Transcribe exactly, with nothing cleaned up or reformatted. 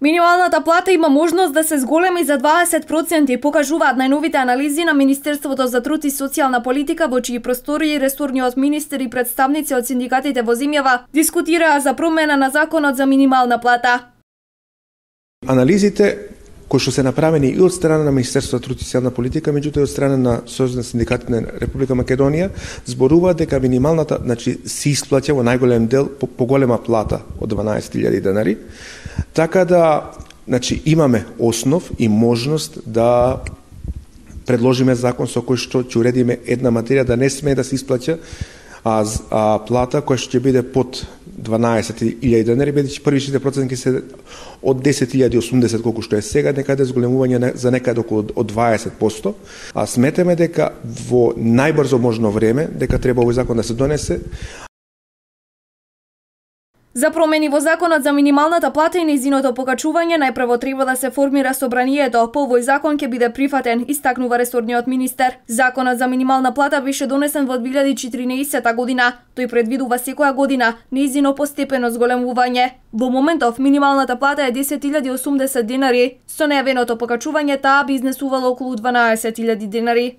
Минималната плата има можност да се зголеми за дваесет проценти, покажуваат најновите анализи на Министерството за труд и социјална политика, во чии простори ресорниот министер и представници од синдикатите во земјава дискутираа за промена на законот за минимална плата. Анализите кои што се направени и од страна на Министерството за труд и социјална политика, меѓутоа и од страна на Сојузот на синдикатите на Република Македонија, зборуваат дека минималната, значи, се исплаќа во најголем дел по, по голема плата од дванаесет илјади денари. Така да, значи, имаме основ и можност да предложиме закон со кој што ќе уредиме една материја да не смее да се исплаќа а, а плата која што ќе биде под дванаесет илјади денари, бидејќи првичните проценти се од десет илјади и осумдесет колку што е сега, некаде зголемување за некаде околу од дваесет проценти, а сметаме дека во најбрзо можно време дека треба овој закон да се донесе. За промени во законот за минималната плата и нејзиното покачување најпрво треба да се формира собранието. По овој закон ќе биде прифатен, истакнува ресорниот министер. Законот за минимална плата беше донесен во две илјади и четиринаесетта година. Тој предвидува секоја година нејзино постепено зголемување. Во моментов минималната плата е десет илјади и осумдесет денари, со најавеното покачување таа би изнесувала околу дванаесет илјади денари.